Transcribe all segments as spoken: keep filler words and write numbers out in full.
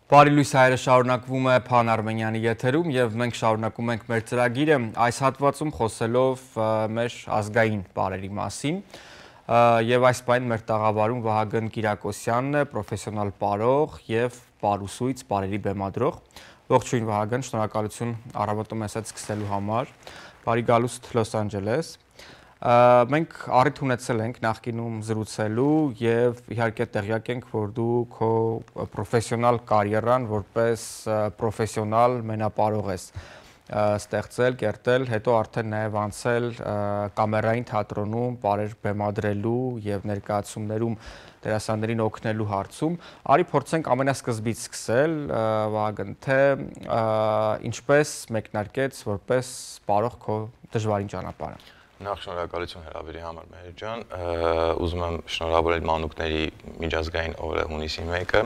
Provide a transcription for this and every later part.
Բարի լույս հայրը շարունակվում է Փան Արմենյանի եթերում և մենք շարունակում ենք մեր ծրագիրը այս հատվածում խոսելով մեր ազգային պարերի մասին և այս պայն մեր տաղավարում Վահագն Կիրակոսյանն է, պրոֆեսիոնալ պարող և պարուսույց, պարերի բեմադրող։ Ողջույն Վահագն, շնորհակալություն առավոտում ես այդ սկսելու համար։ Բարի գալուստ Լոս Անջելես։ Մենք առիթ ունեցել ենք նախկինում զրուցելու և իհարկե տեղյակ ենք, որ դու քո պրոֆեսիոնալ կարիերան որպես պրոֆեսիոնալ մենապարող ես ստեղծել, կերտել, հետո արդեն նաև անցել կամերային թատրոնում պարեր բեմադրելու և ներկայացումներում դերասաններին օգնելու հարցում։ Արի փորձենք ամենասկզբից սկսել, Վահագն, թե ինչպես մեկնարկեց որպես պարող քո դժվարին ճանապարհը։ Նախ շնորհակալություն հրավերի համար, Մհեր ջան, ուզում եմ շնորհավորել մանուկների միջազգային օրը հունիսի մեկը։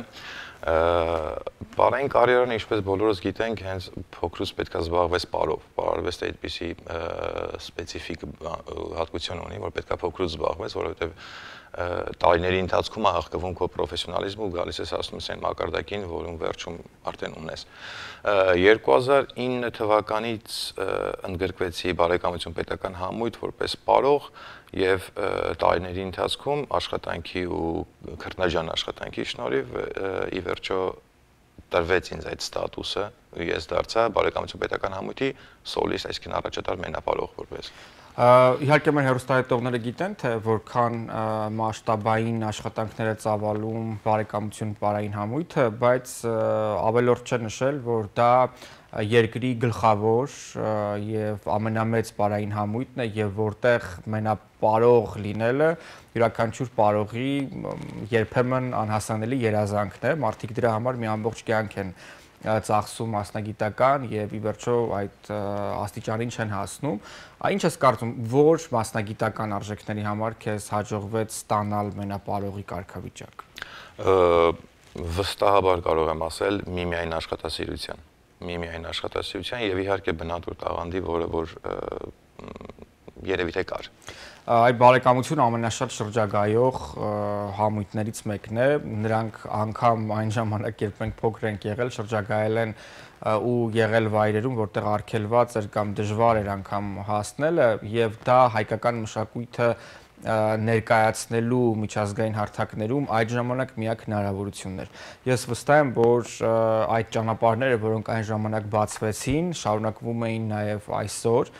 Պարային կարիերան, ինչպես բոլորս գիտենք, հենց փոքրուց պետք է զբաղվես պարով։ Պարարվեստը այդպիսի սպეციფიկ հատկություն ունի, որ պետք է փոքրուց զբաղվես, որովհետև տարիների ընթացքում է հղկվում քո պրոֆեսիոնալիզմը ու գալիս ես հասնում ես այն մակարդակին, որում վերջում արդեն ունես։ երկու հազար ինը թվականից ընդգրկվեցի Բարեկամություն պետական համույթ որպես պարող և տարիների ընթացքում աշխատանքի ու քրտնաջան աշխատանքի շնորհիվ ի վերջո տրվեց ինձ այդ ստատուսը, ես դարձա Բարեկամություն պետական համույթի սոլիստ, այսինքն առաջատար մենապարող որպես։ Իհարկե մեր հեռուստահայտողները գիտեն, թե որքան մասշտաբային աշխատանքներ է ծավալում Բարեկամություն պարային համույթը, բայց ավելորդ չէ նշել, որ դա երկրի գլխավոր և ամենամեծ պարային համույթն է և որտեղ մենապարող լինելը յուրաքանչյուր պարողի երբեմն անհասանելի երազանքն է, մարդիկ դրա համար մի ամբողջ կյանք են ծախսում մասնագիտական և ի վերջո այդ աստիճանին չեն հասնում։ Ինչ ես կարծում, որ մասնագիտական արժեքների համար քեզ հաջողվեց ստանալ մենապարողի կարգավիճակ։ Վստահաբար կարող եմ ասել միմիայն աշխատասիրության, միմիայն աշխատասիրության և իհարկե բնատուր տաղանդի, որը որ երևի թե կար։ Այդ Բարեկամությունը ամենաշատ շրջագայող համույթներից մեկն է, նրանք անգամ այն ժամանակ, երբ մենք փոքր ենք եղել, շրջագայել են ու եղել վայրերում, որտեղ արգելված էր կամ դժվար էր անգամ հասնելը և դա հայկական մշակույթը ներկայացնելու միջազգային հարթակներում այդ ժամանակ միակ հնարավորությունն էր։ Ես վստահ եմ, որ այդ ճանապարհները, որոնք այն ժամանակ բացվեցին, շարունակվում էին նաև այսօր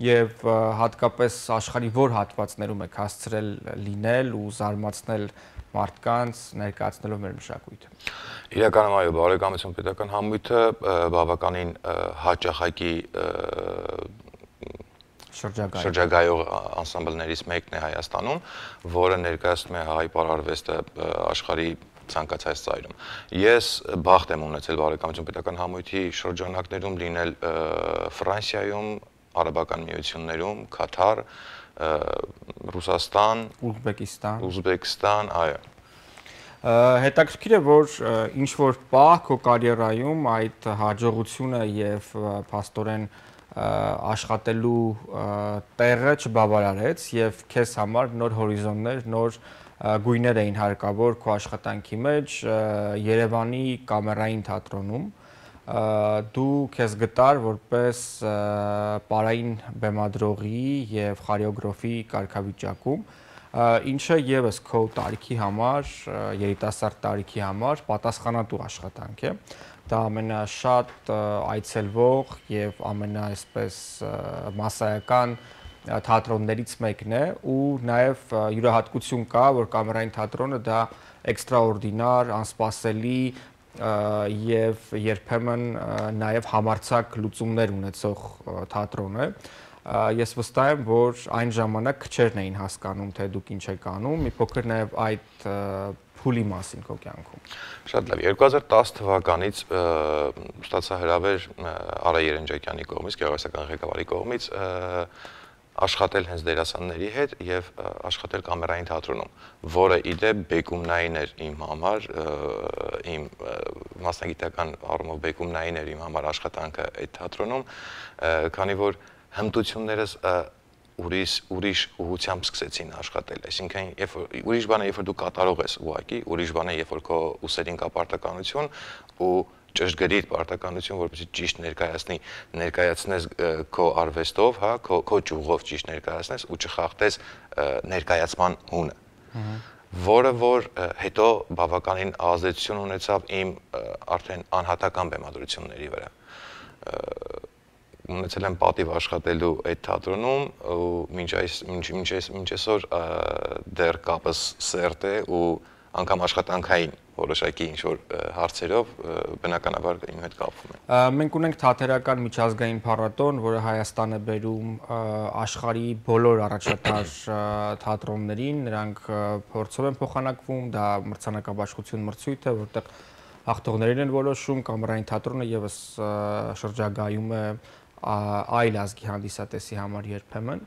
և հատկապես աշխարհի որ հատվածներում եք հասցրել լինել ու զարմացնել մարդկանց ներկայացնելով մեր մշակույթը։ Իրականում այո, Բարեկամություն պետական համույթը բավականին հաճախակի շրջագայող անսամբլներից մեկն է Հայաստանում, որը ներկայացնում է հայ պարարվեստը աշխարհի ցանկացած ծայրում։ Ես բախտ եմ ունեցել Բարեկամություն պետական համույթի շրջանակներում լինել Ֆրանսիայում, Արաբական Միություններում, Քաթար, Ռուսաստան, Ուզբեկիստան, Ուզբեկստան, այո։ Հետաքրքիր է, որ ինչ որ պահ քո կարիերայում այդ հաջողությունը և փաստորեն աշխատելու տեղը չբավարարեց և քեզ համար նոր հորիզոններ, նոր գույներ էին հարկավոր քո աշխատանքի մեջ Երևանի կամերային թատրոնում դու քեզ գտար որպես պարային բեմադրողի և խորեոգրաֆի կարգավիճակում, ինչը ևս քո տարիքի համար, երիտասարդ տարիքի համար պատասխանատու աշխատանք է։ Դա ամենաշատ այցելվող և ամենա այսպես մասսայական թատրոններից մեկն է ու նաև յուրահատկություն կա, որ կամերային թատրոնը դա էքստրաորդինար, անսպասելի և երբեմն նաև համարձակ լուծումներ ունեցող թատրոն է։ Ես վստահ եմ, որ այն ժամանակ քչերն էին հասկանում, թե դուք ինչ եք անում, մի փոքր նաև այդ փուլի մասին քո կյանքում։ Շատ լավ, երկու հազար տասը թվականից ստացա հրավեր Արա Երնջակյանի կողմից, գեղարվեստական ղեկավարի կողմից աշխատել հենց դերասանների հետ և աշխատել կամերային թատրոնում, որը իդեպ բեկումնային էր իմ համար, իմ մասնագիտական առումով բեկումնային էր իմ համար աշխատանքը այդ թատրոնում, քանի որ հմտություններս ուրիշ ուրիշ ուղղությամբ սկսեցին աշխատել, այսինքն երբ որ ուրիշ բան է, երբ որ դու կատարող ես ուղղակի, ուրիշ բան է, երբ որ քո ուսերին կա պարտականություն ու ճշգրիտ պարտականություն, որպեսզի ճիշտ ներկայացնի, ներկայացնես քո արվեստով, հա, քո քո ճյուղով ճիշտ ներկայացնես ու չխախտես ներկայացման հունը։ Որը որ հետո բավականին ազդեցություն ունեցավ իմ արդեն անհատական բեմադրությունների վրա։ Ունեցել եմ պատիվ աշխատելու այդ թատրոնում ու մինչ այս մինչ այս մինչ այսօր դեռ կապս սերտ է ու անգամ աշխատանքային որոշակի ինչ-որ հարցերով բնականաբար իմ հետ կապվում են։ Մենք ունենք թատերական միջազգային փառատոն, որը Հայաստան է բերում աշխարհի բոլոր առաջատար թատրոններին, նրանք փորձով են փոխանակվում, դա մրցանակաբաշխություն մրցույթ է, որտեղ հաղթողներին են որոշում, կամերային թատրոնը եւս շրջագայում է այլ ազգի հանդիսատեսի համար երբեմն,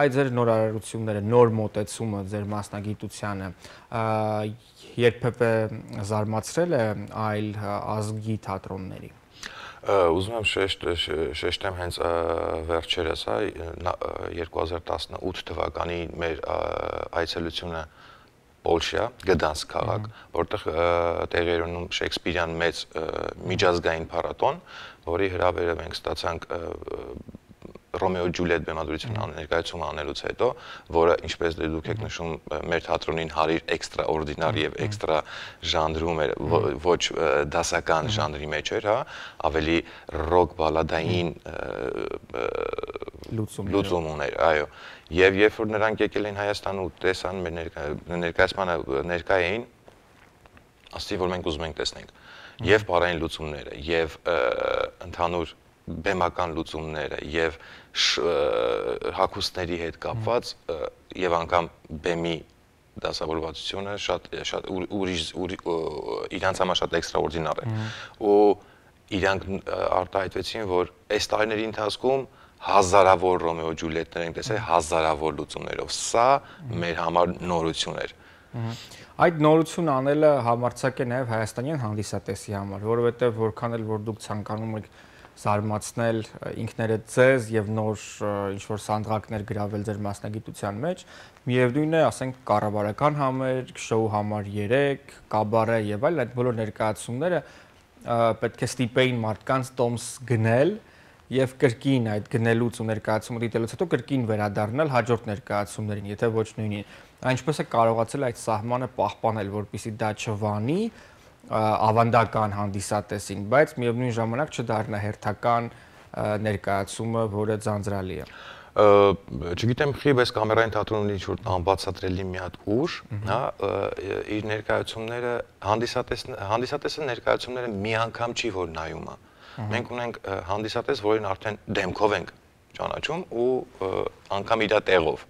այդ ձեր նոր արարությունները, նոր մոտեցումը ձեր մասնագիտությանը երբևէ զարմացրել է այլ ազգի թատրոնների։ Ուզում եմ շեշտեմ հենց վերջերս, հա, երկու հազար տասնութ թվականի մեր այցելությունը Պոլշա, Գդանսկ քաղաք, որտեղ տեղի էր ունենում Շեքսպիրյան մեծ միջազգային փառատոն, որի հրավերը մենք ստացանք Ռոմեո Ջուլիետ բեմադրությունը ներկայացումը անելուց հետո, որը ինչպես դուք եք նշում, մեր թատրոնին հարիր էքստրաօրդինար եւ էքստրա ժանրում էր, ոչ դասական ժանրի մեջ էր, հա, ավելի ռոք բալադային լուծում ուներ, այո։ Եվ երբ որ նրանք եկել էին Հայաստան ու տեսան մեր ներկայացմանը ներկա էին, ասացի, որ մենք ուզում ենք տեսնենք եւ բարային լուծումները, եւ ընդհանուր բեմական լուծումները, եւ հագուստների հետ կապված եւ անգամ բեմի դասավորվածությունը շատ շատ ուրիշ իրանց համար շատ էքստրաօրդինար է։ Ու իրանք արտահայտվեցին, որ այս տարիների ընթացքում հազարավոր Ռոմեո Ջուլիետներ ենք տեսել, հազարավոր լուծումներով։ Սա մեր համար նորություն էր։ Այդ նորություն անելը համարձակ է նաև հայաստանյան հանդիսատեսի համար, որովհետև որքան էլ որ դուք ցանկանում եք զարմացնել ինքներդ ձեզ եւ նոր ինչ-որ սանդղակներ գրավել ձեր մասնագիտության մեջ, միևնույն է, ասենք կառավարական համերգ, շոու համար երեք, կաբարե եւ այլ այդ բոլոր ներկայացումները պետք է ստիպեին մարդկանց տոմս գնել եւ կրկին այդ գնելուց ու ներկայացումը դիտելուց հետո կրկին վերադառնալ հաջորդ ներկայացումներին, եթե ոչ նույնին։ Այնպես է կարողացել այդ սահմանը պահպանել, որպեսզի դա չվանի ավանդական հանդիսատեսին, բայց միևնույն ժամանակ չդառնա հերթական ներկայացումը, որը ձանձրալի է։ Չգիտեմ, խի բայց կամերային թատրոնի ինչ-որ անբացատրելի մի հատ ուժ, հա, իր ներկայացումները հանդիսատեսը ներկայացումները մի անգամ չի որ նայում է։ Մենք ունենք հանդիսատես, որին արդեն դեմքով ենք ճանաչում ու անգամ իր տեղով։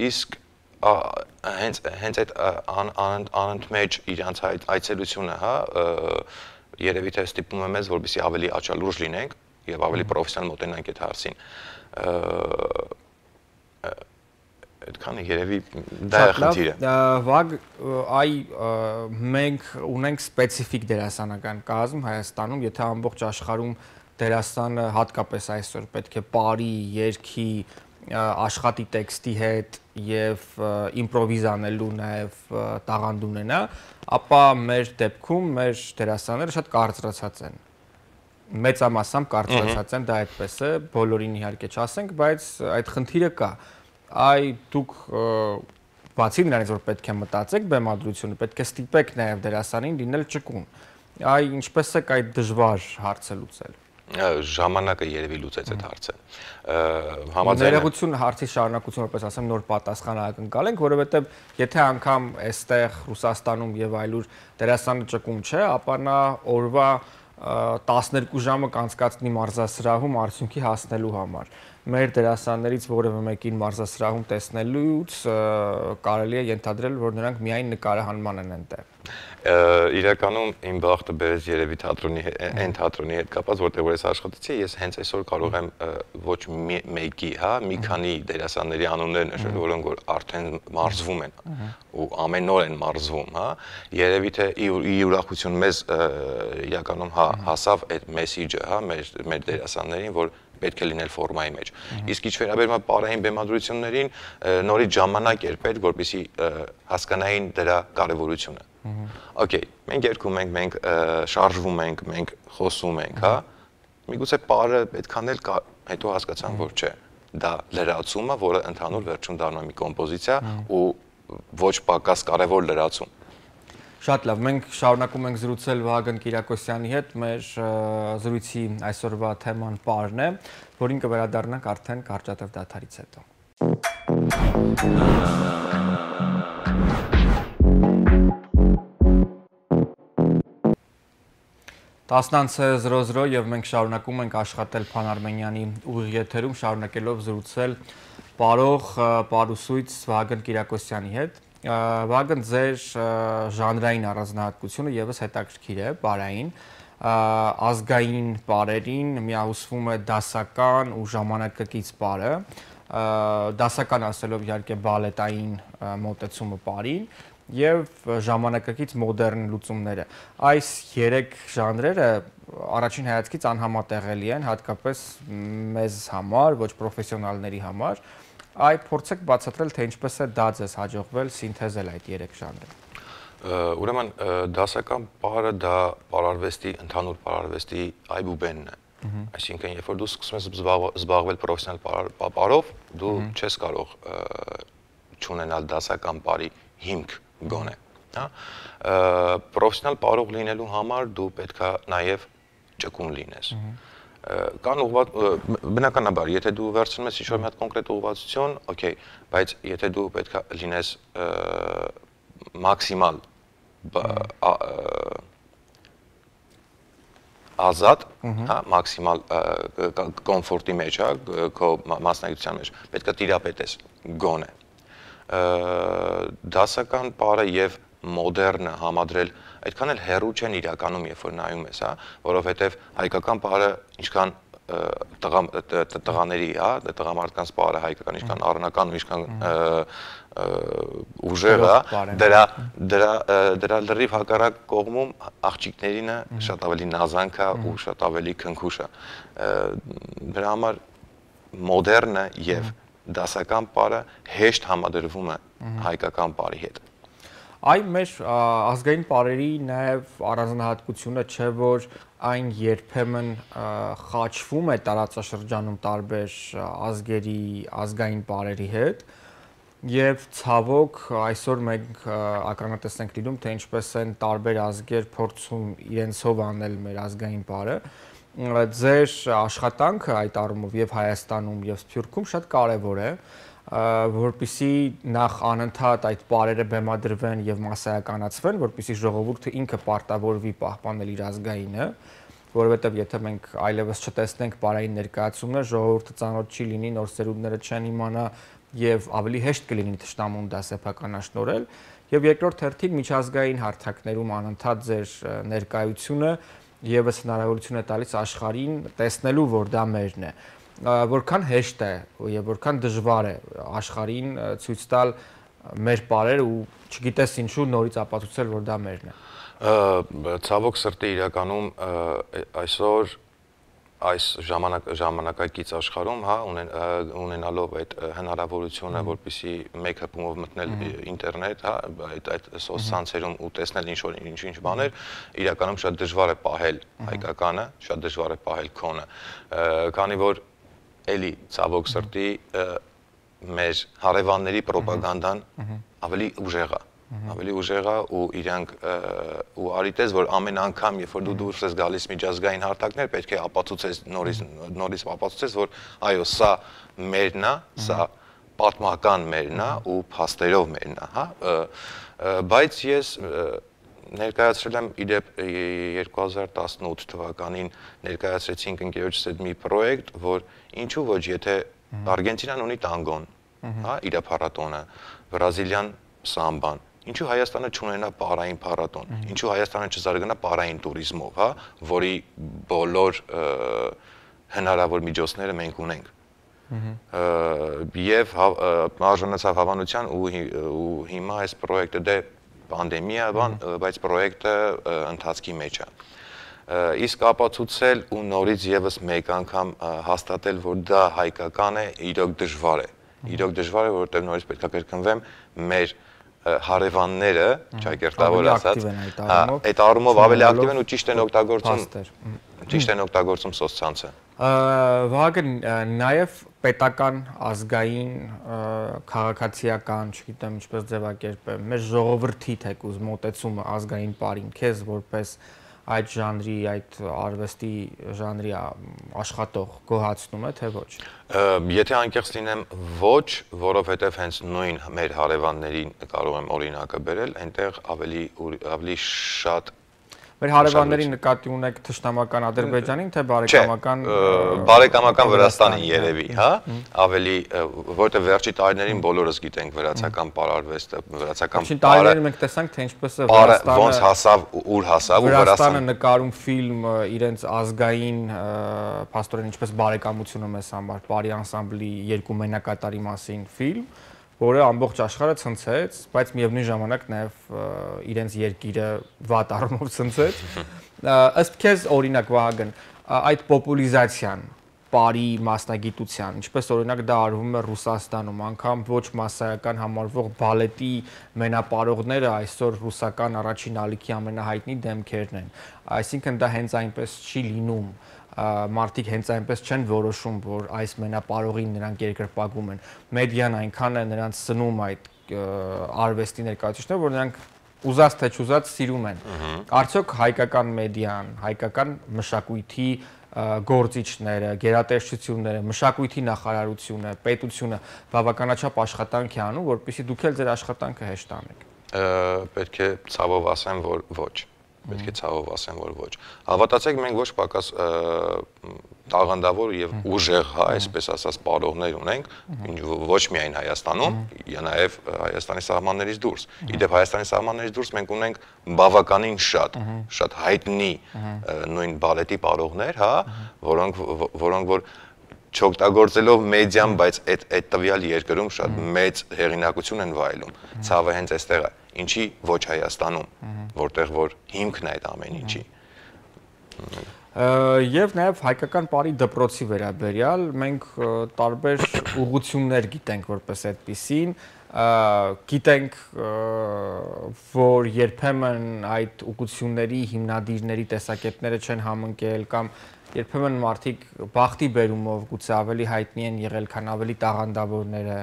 Իսկ հենց հենց այդ անընդմեջ իրանց այցելությունը, հա, երևի թե ստիպում է մեզ, որպեսզի ավելի աչալուրջ լինենք եւ ավելի պրոֆեսիոնալ մոտենանք այդ հարցին։ Այդքանը երևի դա է խնդիրը։ Վագ, այ մենք ունենք սպეციფიկ դերասանական կազմ Հայաստանում, եթե ամբողջ աշխարհում դերասանը հատկապես այսօր պետք է բարի, երգի, աշխատի տեքստի հետ եւ իմպրովիզ անելու նաեւ տաղանդ ունենա, ապա մեր դեպքում մեր դերասանները շատ կարծրացած են։ Մեծամասամբ կարծրացած են, դա այդպես է, բոլորին իհարկե չասենք, բայց այդ խնդիրը կա։ Այ դուք բացի նրանից, որ պետք է մտածեք բեմադրությունը, պետք է ստիպեք նաև դերասանին լինել ճկուն։ Այ ինչպես է այդ դժվար հարցը լուծել։ Ժամանակը երևի լուծեց այդ հարցը։ Ներողություն հարցի շարունակություն, որպես ասեմ, նոր պատասխան ակնկալ ենք, որովհետև եթե անգամ այստեղ Ռուսաստանում եւ այլուր դերասանը ճկուն չէ, ապա նա օրվա տասներկու ժամը կանցկացնի մարզասրահում արդյունքի հասնելու համար։ Մեր դերասաններից որևէ մեկին մարզասրահում տեսնելուց կարելի է ենթադրել, որ նրանք միայն նկարահանման են այնտեղ։ Իրականում իմ բախտը բերեց երևի թատրոնի այն թատրոնի հետ կապված, որտեղ որ ես աշխատեցի, ես հենց այսօր կարող եմ ոչ մեկի, հա, մի քանի դերասանների անուններ նշել, որոնք որ արդեն մարզվում են ու ամեն օր են մարզվում, հա։ Երևի թե ի ուրախություն մեզ իրականում հա հասավ այդ մեսեջը, հա, մեր մեր դերասաններին, որ պետք է լինել ֆորմայի մեջ։ Իսկ ինչ վերաբերում է պարային բեմադրություններին, նորից ժամանակ էր պետք, որպեսզի հասկանային դրա կարևորությունը։ Okay, մենք երգում ենք, մենք շարժվում ենք, մենք խոսում ենք, հա։ Միգուցե պարը պետք անել, հետո հասկացան, որ չէ։ Դա լրացումը, որը ընդհանուր վերջում դառնում է մի կոմպոզիցիա ու ոչ պակաս կարևոր լրացում։ Շատ լավ, մենք շարունակում ենք զրուցել Վահագն Կիրակոսյանի հետ, մեր զրույցի այսօրվա թեման պարն է, որին կվերադառնանք արդեն կարճատև դադարից հետո։ տասնը զրո զրո եւ մենք շարունակում ենք աշխատել Փան Արմենյանի ուղիղ եթերում, շարունակելով զրուցել պարող պարուսույց Վահագն Կիրակոսյանի հետ։ Վահագն, ձեր ժանրային առանձնահատկությունը եւս հետաքրքիր է, պարային, ազգային պարերին միահուսվում է դասական ու ժամանակակից պարը, դասական ասելով իհարկե բալետային մոտեցումը պարին եւ ժամանակակից մոդեռն լուծումները։ Այս երեք ժանրերը առաջին հայացքից անհամատեղելի են, հատկապես մեզ համար, ոչ պրոֆեսիոնալների համար։ Այ փորձեք բացատրել, թե ինչպես է դա ձեզ հաջողվել սինթեզել այդ երեք ժանրը։ Ուրեմն դասական պարը դա պարարվեստի, ընդհանուր պարարվեստի այբուբենն է։ Այսինքն, երբ որ դու սկսում ես զբաղվել պրոֆեսիոնալ պարով, դու չես կարող չունենալ դասական պարի հիմք գոնե, հա։ Պրոֆեսիոնալ պարող լինելու համար դու պետք է նաև ճկուն լինես։ Կան ուղղված բնականաբար, եթե դու վերցնում ես ինչ-որ մի հատ կոնկրետ ուղղվածություն, օքեյ, բայց եթե դու պետք է լինես մաքսիմալ ազատ, հա, մաքսիմալ կոմֆորտի մեջ, հա, քո մասնագիտության մեջ, պետք է տիրապետես գոնե։ Դասական պարը եւ մոդեռնը համադրել այդքան էլ հեռու չեն իրականում, երբ որ նայում ես, հա, որովհետեւ հայկական պարը ինչքան տղաների, հա, տղամարդկանց պարը հայկական ինչքան առնական ու ինչքան ուժեղ է, դրա դրա դրա լրիվ հակառակ կողմում աղջիկներինը շատ ավելի նազանք է ու շատ ավելի քնքուշ է։ Դրա համար մոդեռնը եւ դասական պարը հեշտ համադրվում է հայկական պարի հետ։ Այ մեր ազգային պարերի նաև առանձնահատկությունը չէ, որ այն երբեմն խաչվում է տարածաշրջանում տարբեր ազգերի ազգային պարերի հետ եւ ցավոք այսօր մենք ականատես ենք լինում, թե ինչպես են տարբեր ազգեր փորձում իրենցով անել մեր ազգային պարը։ Ձեր աշխատանքը այդ առումով եւ Հայաստանում եւ Սփյուռքում շատ կարեւոր է, որպեսզի նախ անընդհատ այդ պարերը բեմադրվեն եւ մասսայականացվեն, որպեսզի ժողովուրդը ինքը պարտավորվի պահպանել իր ազգայինը, որովհետեւ եթե մենք այլևս չտեսնենք պարային ներկայացումներ, ժողովուրդը ծանոթ չի լինի, նոր սերունդները չեն իմանա եւ ավելի հեշտ կլինի թշնամուն դա սեփականաշնորհել։ Եվ երկրորդ հերթին միջազգային հարթակներում անընդհատ ձեր ներկայությունը եւս հնարավորություն է տալիս աշխարհին տեսնելու, որ դա մերն է։ Որքան հեշտ է եւ որքան դժվար է աշխարհին ցույց տալ մեր պարերը ու չգիտես ինչու նորից ապացուցել, որ դա մերն է։ Ցավոք սրտի իրականում այսօր այս ժամանակ ժամանակակից աշխարհում, հա, ունենալով այդ հնարավորությունը, որպեսզի մեկ հպումով մտնել ինտերնետ, հա, այդ այդ սոցցանցերում ու տեսնել ինչ-որ ինչ-ինչ բաներ, իրականում շատ դժվար է պահել հայկականը, շատ դժվար է պահել քոնը, քանի որ էլի ցավոք սրտի մեր հարևանների ռոպագանդան ավելի ուժեղ է, ավելի ուժեղ է ու իրանք ու արիտես, որ ամեն անգամ, երբ որ դու դուրս ես գալիս միջազգային հարթակներ, պետք է ապացուցես նորից նորից ապացուցես, որ այո, սա մերն է, սա պատմական մերն է ու փաստերով մերն է, հա, բայց ես ներկայացրել եմ իդեպ երկու հազար տասնութ թվականին ներկայացրեցինք ընկերոջս հետ մի պրոյեկտ, որ ինչու ոչ, եթե Արգենտինան ունի տանգոն, հա, իր փառատոնը, Բրազիլիան սամբան, ինչու Հայաստանը չունենա պարային փառատոն, ինչու Հայաստանը չզարգանա պարային տուրիզմով, հա, որի բոլոր հնարավոր միջոցները մենք ունենք։ Եվ արժանացավ հավանության ու հիմա այս պրոյեկտը դե պանդեմիա բան, բայց պրոյեկտը ընթացքի մեջ է։ իսկ ապացուցել ու նորից եւս մեկ անգամ հաստատել, որ դա հայկական է, իրոք դժվար է։ Իրոք դժվար է, որովհետեւ նորից պետք է կրկնվեմ, մեր հարևանները, ճակերտավոր ասած, այդ առումով ավելի ակտիվ են ու ճիշտ են օգտագործում, ճիշտ են օգտագործում սոցցանցը։ Վահագն, նաև պետական, ազգային, քաղաքացիական, չգիտեմ ինչպես ձևակերպեմ, մեր ժողովրդի թեկուզ մոտեցումը ազգային պարին, քեզ որպես այդ ժանրի, այդ արվեստի ժանրի աշխատող գոհացնում է, թե ոչ։ Եթե անկեղծ լինեմ, ոչ, որովհետև հենց նույն մեր հարևաններին կարող եմ օրինակը բերել, այնտեղ ավելի ավելի շատ Մեր հարևանների նկատի ունեք թշնամական Ադրբեջանին, թե բարեկամական բարեկամական Վրաստանին երևի, հա, ավելի, որտեղ վերջի տարիներին բոլորս գիտենք վրացական պարարվեստը, վրացական պարը։ Տարիներին մենք տեսանք, թե ինչպես է Վրաստանը ոնց հասավ, ուր հասավ ու Վրաստանը նկարում ֆիլմ իրենց ազգային, փաստորեն ինչպես բարեկամությունը մեզ համար, Պարի անսամբլի երկու մենակատարի մասին ֆիլմ, որը ամբողջ աշխարհը ցնցեց, բայց միևնույն ժամանակ նաև իրենց երկիրը վատ առումով ցնցեց։ Ըստ քեզ օրինակ Վահագն, այդ պոպուլիզացիան, պարի մասնագիտության, ինչպես օրինակ դա արվում է Ռուսաստանում, անգամ ոչ մասսայական համարվող բալետի մենապարողները այսօր ռուսական առաջին ալիքի ամենահայտնի դեմքերն են։ Այսինքն դա հենց այնպես չի լինում։ Մարդիկ հենց այնպես չեն որոշում, որ այս մենապարողին նրանք երկրպագում են։ Մեդիան այնքան է նրանց սնում այդ արվեստի ներկայացուցիչները, որ նրանք ուզած թե չուզած սիրում են։ Արդյոք հայկական մեդիան, հայկական մշակույթի գործիչները, գերատեսչությունները, մշակույթի նախարարությունը, պետությունը բավականաչափ աշխատանք է անում, որպեսզի դուք էլ ձեր աշխատանքը հեշտ անեք։ Պետք է ցավով ասեմ, որ ոչ։ Պետք է ցավով ասեմ, որ ոչ։ Հավատացեք, մենք ոչ պակաս տաղանդավոր եւ ուժեղ, հա, այսպես ասած, պարողներ ունենք, ոչ միայն Հայաստանում, նաեւ Հայաստանի սահմաններից դուրս։ Իդեպ Հայաստանի սահմաններից դուրս մենք ունենք բավականին շատ, շատ հայտնի նույն բալետի պարողներ, հա, որոնք որոնք որ չօգտագործելով մեդիան, բայց այդ այդ տվյալ երկրում շատ մեծ հեղինակություն են վայելում։ Ցավը հենց այստեղ է։ Ինչի ոչ Հայաստանում, որտեղ որ հիմքն է այդ ամեն ինչի։ Եվ նաև հայկական պարի դպրոցի վերաբերյալ մենք տարբեր ուղղություններ գիտենք որպես այդպիսին, գիտենք, որ երբեմն այդ ուղղությունների հիմնադիրների տեսակետները չեն համընկել կամ երբեմն մարդիկ բախտի բերումով գուցե ավելի հայտնի են եղել, քան ավելի տաղանդավորները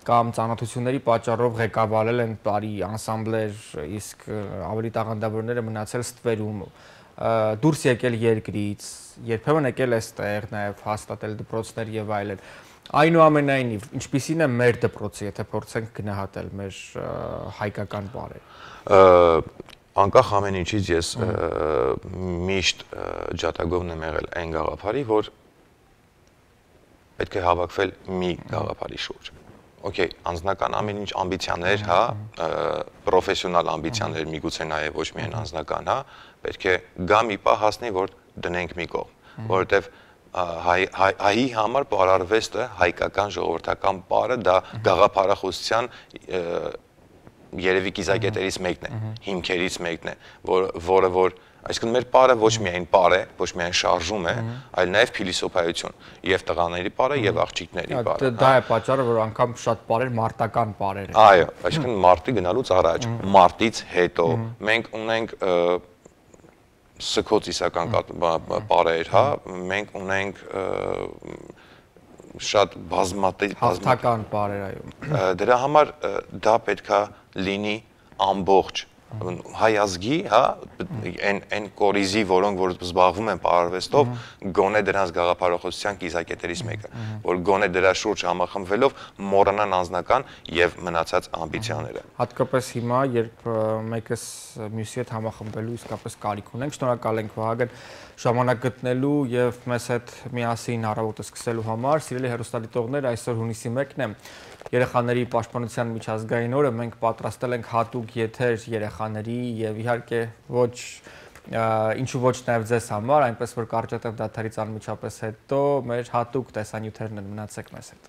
կամ ծանոթությունների պատճառով ղեկավարել են պարի անսամբլեր, իսկ ավելի տաղանդավորները մնացել ստվերում, դուրս եկել երկրից, երբեմն եկել այստեղ, նաև հաստատել դպրոցներ եւ այլն։ Այնուամենայնիվ, ինչպիսին է մեր դպրոցը, եթե փորձենք գնահատել մեր հայկական պարերը։ Անկախ ամեն ինչից ես միշտ ջատագովն եմ եղել այն գաղափարի, որ պետք է հավաքվել մի գաղափարի շուրջ։ Okay, անձնական ամեն ինչ ամբիցիաներ, հա, պրոֆեսիոնալ ամբիցիաներ, միգուցե նաև ոչ միայն անձնական, հա, պետք է գա մի պահ հասնի, որ դնենք մի կողմ, որովհետև հայի համար պարարվեստը, հայկական ժողովրդական պարը, դա գաղափարախոսության երևի կիզակետերից մեկն է, հիմքերից մեկն է, որը որ այսինքն մեր պարը ոչ միայն պար է, ոչ միայն շարժում է, այլ նաև փիլիսոփայություն, եւ տղաների պարը եւ աղջիկների պարը։ Դա է պատճառը, որ անգամ շատ պարեր մարտական պարեր են։ Այո, այսինքն մարտի գնալուց առաջ, մարտից հետո մենք ունենք սքոց իսական պարեր, հա, մենք ունենք շատ բազմատիպ հաղթական պարեր, այո։ Դրա համար դա պետքա լինի ամբողջ հայ ազգի, հա, այն կորիզի, որոնք որ զբաղվում են պարարվեստով, գոնե դրանց գաղափարախոսության կիզակետերից մեկը, որ գոնե դրա շուրջ համախմբվելով մոռանան անձնական եւ մնացած ամբիցիաները։ Հատկապես հիմա, երբ մեկս մյուսի հետ համախմբվելու իսկապես կարիք ունենք, շնորհակալ ենք Վահագն ժամանակ գտնելու եւ մեզ հետ միասին առավոտը սկսելու համար։ Սիրելի հեռուստադիտողներ, այսօր հունիսի մեկն է, երեխաների պաշտպանության միջազգային օրը, մենք պատրաստել ենք հատուկ եթեր երեխաների եւ իհարկե ոչ ինչու ոչ նաեւ ձեզ համար, այնպես որ կարճատև դադարից անմիջապես հետո մեր հատուկ տեսանյութերն են, մնացեք մեզ հետ։